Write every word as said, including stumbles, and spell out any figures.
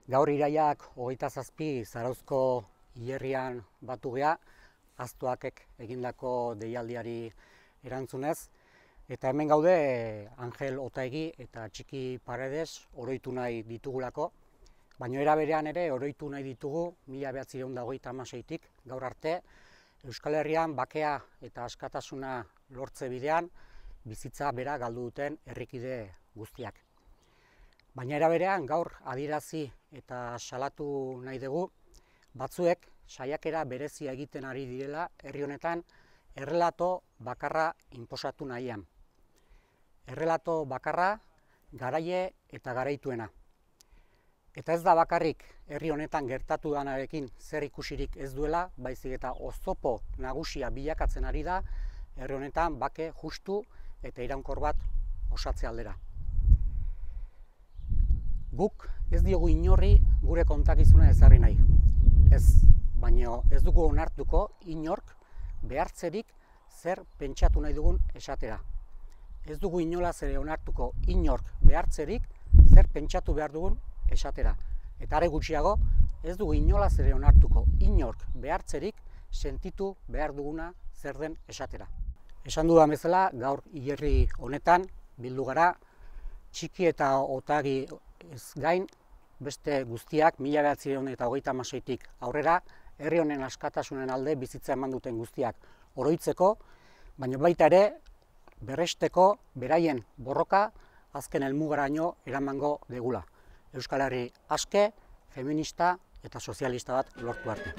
Gaur iraiak hogeita zazpi Zarauzko hilerrian batu gea, Aztuakek egindako deialdiari erantzunez, eta hemen gaude Angel Otaegi eta Txiki Paredes oroitu nahi ditugulako, baina era berean ere oroitu nahi ditugu mila bederatziehun eta hogeita hamaseitik gaur arte Euskal Herrian bakea eta askatasuna lortze bidean bizitza bera galdu duten herrikide guztiak. Baina era berean gaur adierazi eta salatu nahi dugu batzuek saiakera berezia egiten ari direla herri honetan errelato bakarra inposatu nahian. Errelato bakarra garaile eta garaituena. Eta ez da bakarrik herri honetan gertatu danarekin zer ikusirik ez duela, baizik eta oztopo nagusia bilakatzen ari da herri honetan bake justu eta iraunkor bat osatze aldera. Guk ez diogu inorri gure kontakizuna ezarri nahi. Ez, baina ez dugu onartuko inork behartzerik zer pentsatu nahi dugun esatera. Ez dugu inolaz ere onartuko inork behartzerik zer pentsatu behar dugun esatera. Eta are gutxiago, ez dugu inolaz ere onartuko inork behartzerik sentitu behar duguna zer den esatera. Esan dudan bezala, gaur hilerri honetan bildu gara, Txiki eta Otaegi ez gain, beste guztiak mila bederatziehun eta hogeita hamaseitik aurrera, herri honen askatasunen alde bizitza eman duten guztiak oroitzeko, baina baita ere berresteko beraien borroka azken helmugaraino eramango degula. Euskal Herri aske, feminista eta sozialista bat lortu arte.